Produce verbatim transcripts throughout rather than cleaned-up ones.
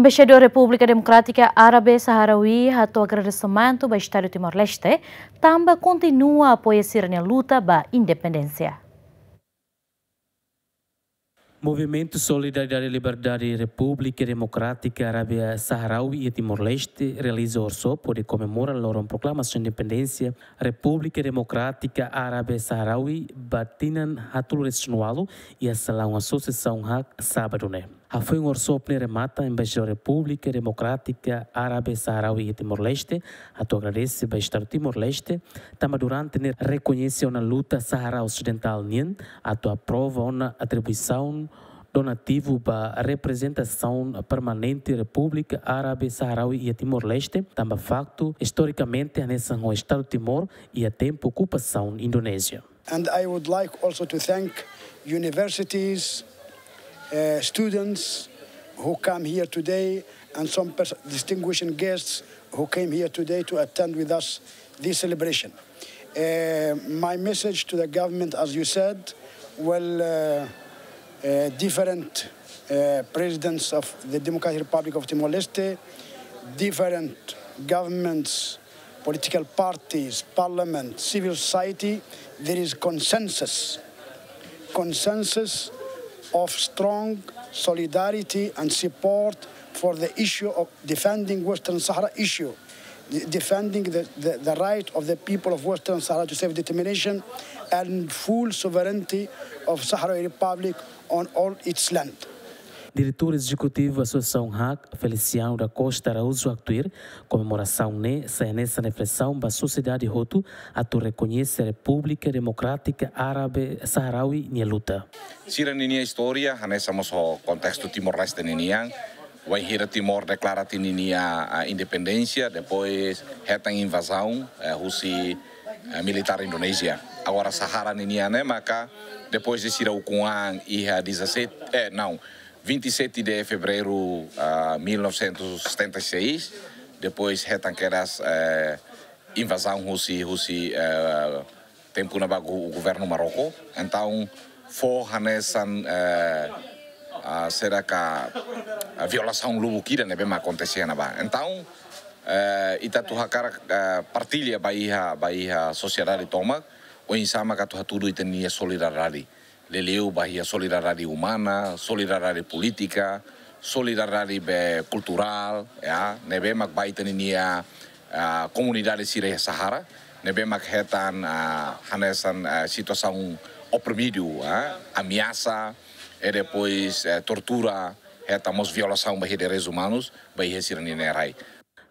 Embaixadór Repúblika Demokrátika Árabe Saharaui hato'o agradesimentu ba Estadu Timor-Leste, tanba kontinua apoia sira-nia luta ba independénsia. Movimentu Solidariedade Liberdade Repúblika Demokrátika Árabe Saharaui iha Timor-Leste realiza workshop hodi komemora loron proklamasaun independénsia Repúblika Demokrátika Árabe Saharaui ba tinan haatnulu-resin-ualu iha salaun Asosiasaun HAK, sábadu ne'e. Hafoin workshop ne'e remata, Embaixadór Repúblika Demokrátika Árabe Saharaui iha Timor-Leste hato'o agradese ba Estadu Timor-Leste, tanba durante ne'e rekoñese ona luta Sahará Osidentál nian, atu aprova ona atribuisaun donativu ba reprezentasaun permanente Repúblika Árabe Saharaui iha Timor-Leste, tanba faktu, istorikamente, hanesan ho Estadu Timor iha tempu okupasaun Indonézia. And I would like also to thank universities, uh, students who come here today, and some pers-, distinguished guests who came here today to attend with us this celebration. Uh, my message to the government, as you said, well, uh, uh, different, uh, presidents of the Democratic Republic of Timor-Leste, different governments, political parties, parliament, civil society, there is consensus, consensus of strong solidarity and support for the issue of defending Western Sahara issue, de-, defending the, the, the right of the people of Western Sahara to self-determination and full sovereignty of Sahrawi Republic on all its land. Diretór Ezekutivu Asosiasaun HAK, Feliciano da Costa Araújo, haktuir, komemorasaun ne'e sai hanesan reflesaun ba sosiedade hotu atu rekoñese Repúblika Demokrátika Árabe Saharaui nia luta. Sira ninia istória, hanesan mós ho kontestu Timor-Leste ninian, wainhira Timor deklara tiha ninia, ah, independénsia, depois hetan invazaun, eh, husi, eh, militár Indonézia. Agora Sahará ninian ne'e maka, depois de sira ukun an iha dezassete, eh, não, vinte e sete de fevereiro, ah, mil novecentos e setenta e seis, depois hetan kedas, eh, invazaun husi, husi, eh, tempu ne'ebá gu-, governu Marroko. Entaun, fó hanesan, eh, ah, será que, ah, violasaun lubuk ida ne'ebé mak akontese iha ne'ebá. Entaun, eh, ita atu hakarak, eh, partilla ba iha, ba iha sosiedade tomak, oinsá maka atu hatudu ita-nia solidariedade. Liuliu ba iha solidariedade umana, solidariedade polítika, solidariedade be kulturál, ya, ne'ebé mak ba ita-nia, ah, komunidade sira iha Sahará, ne'ebé mak hetan, ah, hanesan, ah, situasaun oprimidu, ah, ameasa, e depois, eh, tortura, hetan mós violasaun ba iha direitus umanus, ba iha sira-nia rai.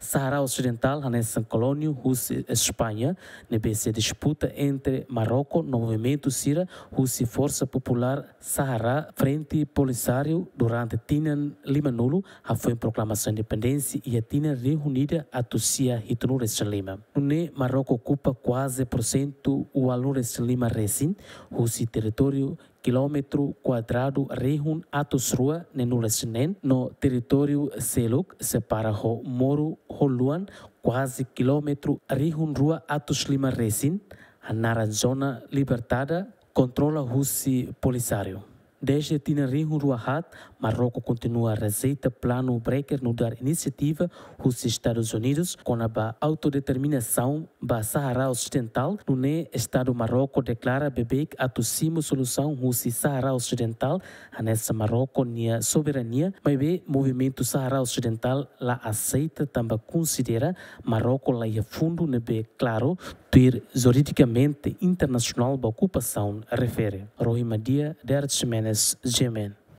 Sahará Osidentál hanesan kolónia husi España, ne'ebé sei disputa entre Marroko no movimentu sira husi Forsa Populár Sahará Frente Polisário durante tinan limanulu, hafoin proklamasaun independénsia iha tinan rihun ida atus sia hitunulu-resin-lima. Nune'e Marroko okupa kuaze porsentu ualunulu-resin-lima resin husi territóriu kilómetru kuadradu rihun atus rua neenulu-resin-neen, no territóriu seluk separa ho moru ho luan kuaze kilómetru rihun rua atus lima resin, hanaran zona libertada, kontrola husi Polisário. Dezde tinan rihun rua haat, Marroko kontinua rejeita planu Breker nu'udar inisiativa husi Estadus Unidus kona-ba autodeterminasaun ba Sahará Osidentál, nune'e Estadu Marroko deklara beibeik atu simu solusaun husi Sahará Osidentál, hanesan Marroko nia soberania, maibé movimentu Sahará Osidentál la aseita tanba konsidera Marroko la iha fundu ne'ebé klaru, tuir juridikamente internasionál ba okupasaun refere. Rohi Madia, Derek Ximenes, G M N.